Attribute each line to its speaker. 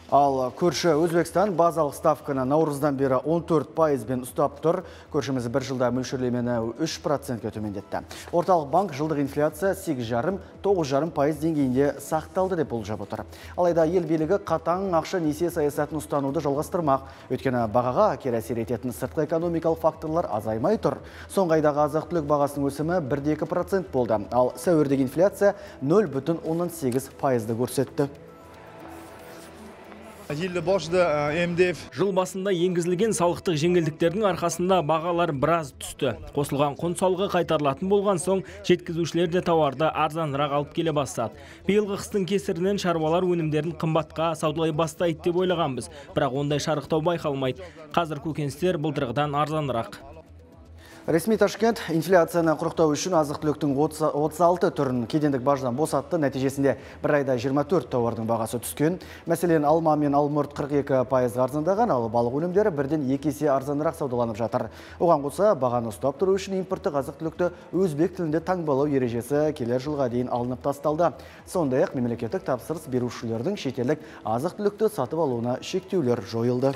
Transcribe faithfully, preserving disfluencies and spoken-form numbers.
Speaker 1: Ал көрші Өзбекстан базалық ставканы наурыздан бері он төрт пайызбен ұстап тұр. Көршіміз бір жылда мөлшерлемені үш процентке төмендетті. Орталық банк жылдық инфляция сегіз жарым — тоғыз жарым пайыз деңгейінде сақталды деп болжап отыр. Алайда ел билігі қатаң ақша несие саясатын ұстануды жалғастырмақ. Өйткені бағаға кері әсер ететін сыртқы экономикалық факторлар азаймай тұр. Соңғы айдағы азық-түлік бағасының өсімі бір де екі процент болды. Ал сәуірдегі инфляция нөл бүтін оннан сегіз пайызды көрсетті.
Speaker 2: Жыл басында енгізілген салықтық жеңілдіктердің арқасында бағалар біраз түсті. Қосылған құн салығы қайтарылатын болған соң, жеткізушілер де тауарды арзанырақ алып келе бастады. Биылғы қыстың кесірінен шаруалар өнімдерін қымбатқа саудалай бастайды деп ойлағанбыз, бірақ ондай шарықтау байқалмайды. Қазір көкөністер былтырғыдан арзанырақ.
Speaker 1: Ресми Ташкент инфляцияны құрықтау үшін азық-түліктің отыз алты түрін кедендік баждан босатты. Нәтижесінде бір айда жиырма төрт тауардың бағасы түскен. Мәселен, алма мен алмұрт қырық екі пайыз арзандаған, ал балық өнімдері бірден екі есе арзанырақ саудаланып жатыр. Оған қоса, бағаны ұстап тұру үшін импорттық азық-түлікті өзбек тілінде таңбалау ережесі келер жылға дейін алынып тасталды. Сондай-ақ мемлекеттік тапсырыс берушілердің шетелдік азық-түлікті сатып алуына шектеулер жойылды.